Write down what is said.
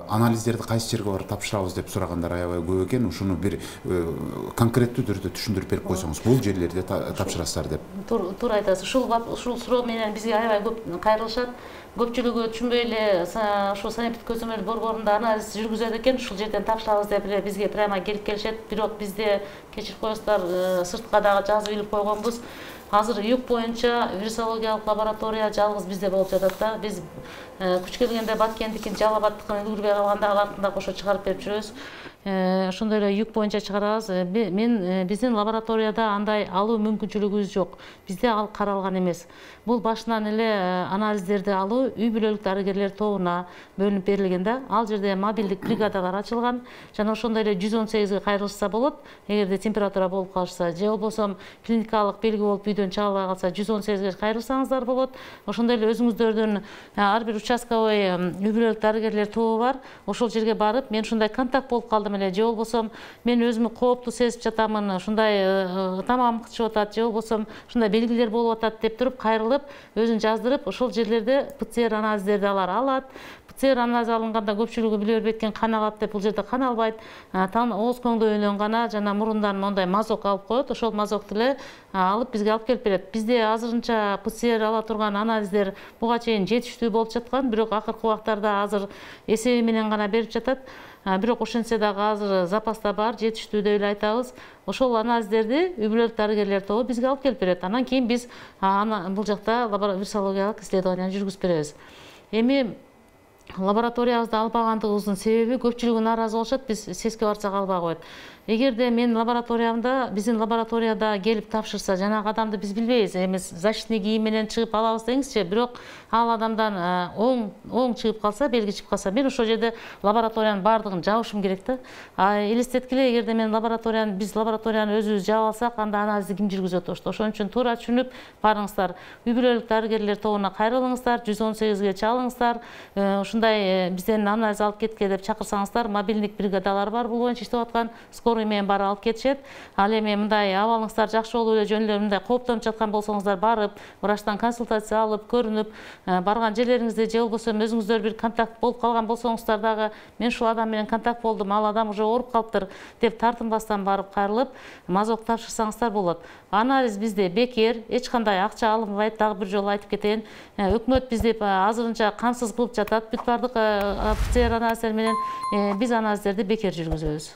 Анализдерди кайсы жерге барып тапшырабыз деп сурагандар аябай көп экен. Ушуну бир конкреттүү түрдө түшүндүрүп берип койсоңуз, бул жерлерде тапшырасыздар деп. Туура айтасыз. Ушул суроо менен бизге аябай көп кайрылышат. Көпчүлүгү түшүнбөй эле ушул санитардык көзөмөл борборунда анализ жүргүзөт экен, ушул жерден тапшырабыз деп эле бизге прямо келип келишет. Бирок бизде кечирип коесуздар, сыртка дагы жазып илип койгонбуз. Азыр ЮК боюнча вирусологиялык лаборатория жалгыз бизде болуп жатат да. Биз күч келгенде Баткендикин, Жалал Абадтыкын үлгүрбөй калганда алардын да кошо чыгарып берип жүрөбүз. Ошондой эле ЮК боюнча чыгарабыз. Биздин лабораторияда андай алуу мүмкүнчүлүгүбүз жок. Бизде ал каралган эмес. Бул башынан эле анализдерди алуу үй бүлөлүк дарыгерлер тобуна бөлүнүп берилген да. Ал жерде мобилдик бригадалар ачылган. Жана ошондой эле 118ге кайрылышса болот. Эгерде температура болуп калышса, же болбосо клиникалык белги болуп үйдөн чыга албай калса 118ге кайрылсаңыздар болот. Ошондой эле өзүңүздөрдүн ар бир участковый үй бүлөлүк дарыгерлер тобу бар. Ошол жерге барып, мен ушундай контакт болуп калдым эле, же болбосо мен өзүмө кооптуу сезип жатамын, ушундай тамагым кычып атат, же болбосо ушундай белгилер болуп атат деп туруп кайрылып, өзүн жаздырып, ошол жерлерде ПЦР анализдерди алат. ПЦР анализ алынганда көпчүлүгү биле бербейт экен, кан алат деп. Бул жерде кан албайт. Ооз көңдөйүнөн гана жана мурундан мондай мазок алып коет. Ошол мазокту эле алып бизге алып келип берет. Бизде азырынча ПЦР ала турган анализдер буга чейин жетиштүү болуп жаткан, бирок акыркы убактарда азыр эсеби менен гана берип жатат. Бирок ошентсе дагы азыр запаста бар, жетиштүү деп эле айтабыз. Ошол анализдерди үй бүлөлүк дарыгерлер тобу бизге алып келип берет. Анан кийин биз бул жакта вирусологиялык исследование жүргүзүп беребиз. Эми лабораториябызды албагандыгыбыздын себеби көпчүлүгү нааразы болушат, биз СЭСке барсак албай коет. Эгерде биздин лабораторияда келип тапшырса, жанагы адамды биз билбейбиз, эми защитный кийим менен чыгып алабыз деңизчи, бирок ал адамдан оң чыгып калса, белги чыгып калса, мен ошол жерде лабораториянын баардыгын жабышым керек да. Элестеткиле, эгерде биз лабораторияны өзүбүз жаап алсак, анда анализди ким жүргүзөт ошто? Ошон үчүн туура түшүнүп барыңыздар. Үй бүлөлүк дарыгерлер тобуна кайрылыңыздар, 118ге чалыңыздар. Ушундай бизден анализ алып кетке деп чакырсаңыздар, мобилдик бригадалар бар, бул боюнча иштеп аткан. Скорый менен барып алып кетишет. Ал эми мындай абалыңыздар жакшы болуп эле жөн эле мындай кооптонуп жаткан болсоңуздар, барып, врачтан консультация алып, көрүнүп, барган жерлериңизде же болбосо өзүңүздөр бир контакт болуп калган болсоңуздар дагы, мен ушул адам менен контакт болдум, ал адам уже ооруп калыптыр деп тартынбастан барып кайрылып, мазок тапшырсаңыздар болот. Анализ бизде бекер, эч кандай акча алынбайт, дагы бир жолу айтып кетейин. Өкмөт бизди азырынча камсыз кылып жатат. Бүт бардык ПЦР анализдер менен биз анализдерди бекер жүргүзөбүз.